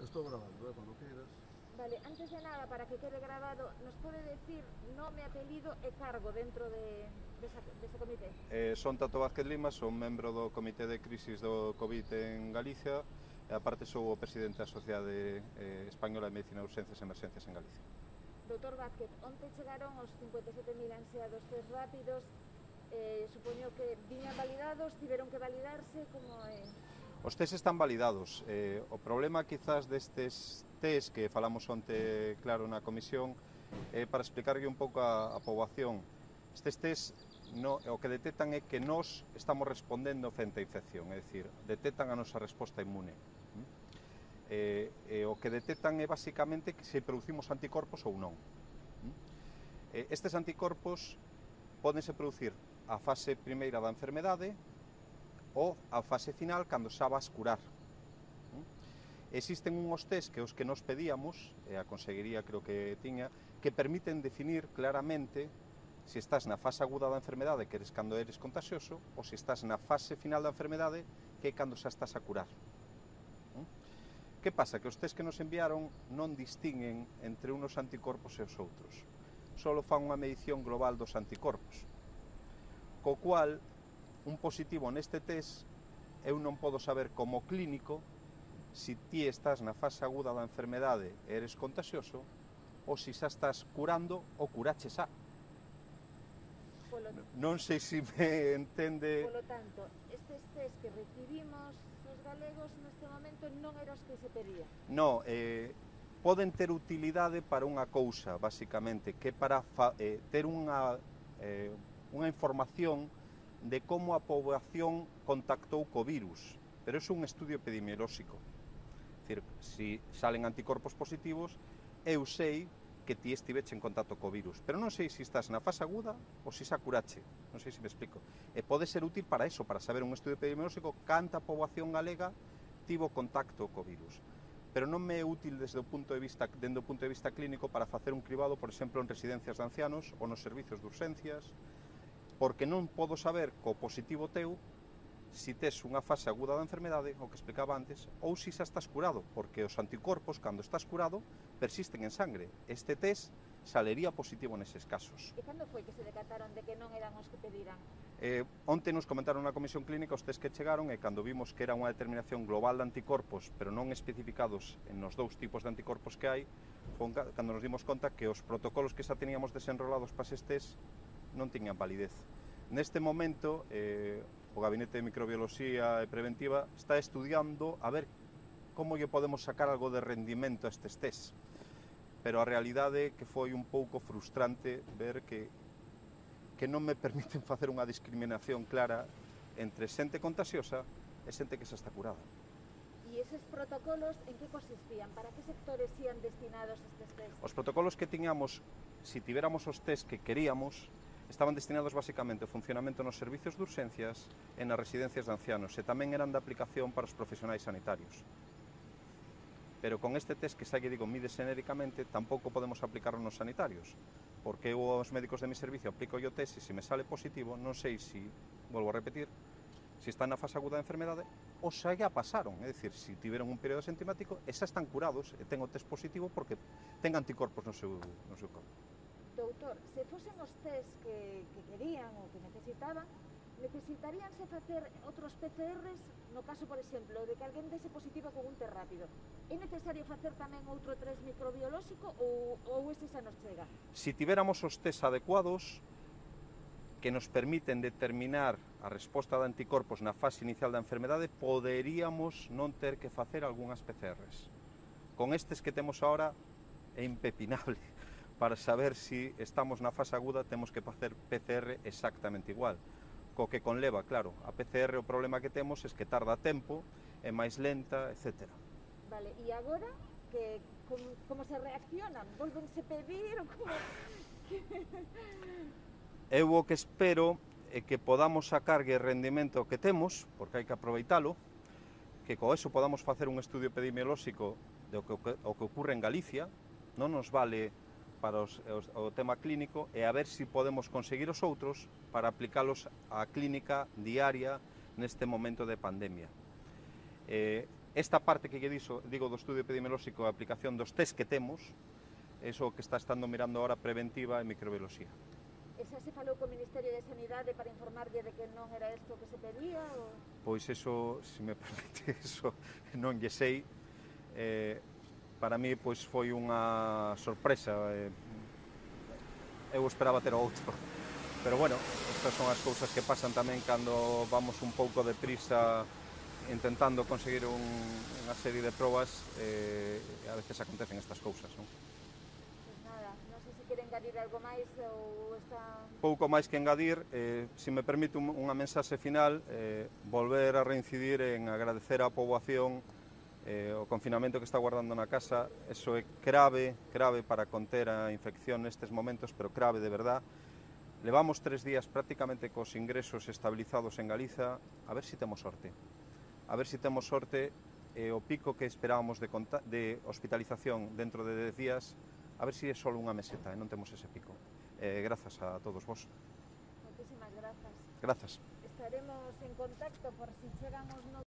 Estou grabando, cuando quieras. Vale, antes de nada, para que quede grabado, ¿nos puede decir nome, apelido e cargo dentro dese comité? Son Tato Vázquez Lima, son membro do Comité de Crisis do COVID en Galicia e aparte sou o presidente da Sociedade Española de Medicina de Urxencias e Emerxencias en Galicia. Doutor Vázquez, onte chegaron os 57.000 ansiados test rápidos, supoño que viñan validados, tiveron que validarse, como é? Os test están validados. O problema quizás destes test que falamos onte claro na comisión é para explicarlle un pouco a poboación. Estes test o que detectan é que nós estamos respondendo frente á infección, é dicir, detectan a nosa resposta inmune. O que detectan é basicamente que se producimos anticorpos ou non. Estes anticorpos pódense producir a fase primeira da enfermedade ou a fase final cando xa vas curar. Existen unhos test que os que nos pedíamos, e a Consellería creo que tiña, que permiten definir claramente se estás na fase aguda da enfermedade, que eres cando eres contagioso, ou se estás na fase final da enfermedade, que é cando xa estás a curar. Que pasa? Que os test que nos enviaron non distinguen entre unos anticorpos e os outros. Só fan unha medición global dos anticorpos. Co cual, un positivo neste test, eu non podo saber como clínico se ti estás na fase aguda da enfermedade e eres contagioso ou se xa estás curando ou curache xa. Non sei se me entende. Polo tanto, estes test que recibimos os galegos neste momento non eran os que se pedían? Non, poden ter utilidade para unha cousa, basicamente, que é para ter unha información de como a poboación contactou co virus, pero é un estudio epidemiolóxico. É dicir, se salen anticorpos positivos, eu sei que ti estiveche en contacto co virus, pero non sei se estás na fase aguda ou se xa curache, non sei se me explico. E pode ser útil para eso, para saber un estudio epidemiolóxico canta poboación galega tivo contacto co virus. Pero non me é útil dende o punto de vista clínico para facer un cribado, por exemplo, en residencias de ancianos ou nos servicios de urxencias, porque non podo saber co positivo teu se tes unha fase aguda da enfermedade, o que explicaba antes, ou se xa estás curado, porque os anticorpos, cando estás curado, persisten en sangre. Este test salería positivo neses casos. E cando foi que se decataron de que non eran os que pediran? Onte nos comentaron na comisión clínica os test que chegaron e cando vimos que era unha determinación global de anticorpos, pero non especificados nos dous tipos de anticorpos que hai, cando nos dimos conta que os protocolos que xa teníamos desenrolados para eses test non tiñan validez. Neste momento, o Gabinete de Microbioloxía e Preventiva está estudiando a ver como lle podemos sacar algo de rendimento a estes test. Pero a realidade é que foi un pouco frustrante ver que non me permiten facer unha discriminación clara entre xente contagiosa e xente que xa está curada. E eses protocolos en que consistían? Para que sectores ían destinados estes test? Os protocolos que tiñamos, se tiveramos os test que queríamos, estaban destinados basicamente ao funcionamento nos servicios de urxencias e nas residencias de ancianos e tamén eran de aplicación para os profesionais sanitarios. Pero con este test que xa lle digo mide xenéricamente tampouco podemos aplicarlo nos sanitarios, porque eu aos médicos de mi servicio aplico o test e se me sale positivo non sei se, volvo a repetir, se están na fase aguda da enfermedade ou xa ya pasaron, é dicir, se tiveron un período asintomático e xa están curados e ten o test positivo porque ten anticorpos no seu corpo. Doutor, se fosen os test que querían ou que necesitaban, necesitaríanse facer outros PCRs no caso, por exemplo, de que alguén dese positivo con un test rápido. É necesario facer tamén outro test microbiolóxico ou ese xa nos chega? Se tiveramos os test adecuados que nos permiten determinar a resposta de anticorpos na fase inicial da enfermedade, poderíamos non ter que facer algunhas PCRs. Con estes que temos agora é impepinable. Para saber se estamos na fase aguda temos que facer PCR exactamente igual. Co que conleva, claro, a PCR o problema que temos é que tarda tempo, é máis lenta, etc. Vale, e agora como se reaccionan? Volvense pedir ou como? Eu o que espero é que podamos sacarlle rendimento que temos, porque hai que aproveitalo, que co eso podamos facer un estudio epidemiolóxico do que ocorre en Galicia, non nos vale para o tema clínico e a ver se podemos conseguir os outros para aplicalos á clínica diaria neste momento de pandemia. esta parte que lle digo do estudio epidemiolóxico, a aplicación dos test que temos, é o que está estando mirando ahora preventiva e microbiología. E xa se falou co Ministerio de Sanidade para informarlle de que non era isto que se pedía? Ou... Pois eso, se me permite, eso non lle sei. Para mí pois foi unha sorpresa. Eu esperaba ter outro. Pero bueno, estas son as cousas que pasan tamén cando vamos un pouco deprisa intentando conseguir unha serie de probas, a veces acontecen estas cousas, non? Pois nada, non sei se quere engadir algo máis ou está... Pouco máis que engadir, se me permite unha mensaxe final, volver a reincidir en agradecer á poboación o confinamento que está guardando na casa. Eso é grave para conter a infección nestes momentos, pero grave de verdad. Levamos 3 días prácticamente cos ingresos estabilizados en Galiza, a ver se temos sorte. A ver se temos sorte, o pico que esperábamos de hospitalización dentro de 10 días, a ver se é só unha meseta e non temos ese pico. Grazas a todos vos. Moitísimas grazas. Grazas. Estaremos en contacto por si chegan os novos...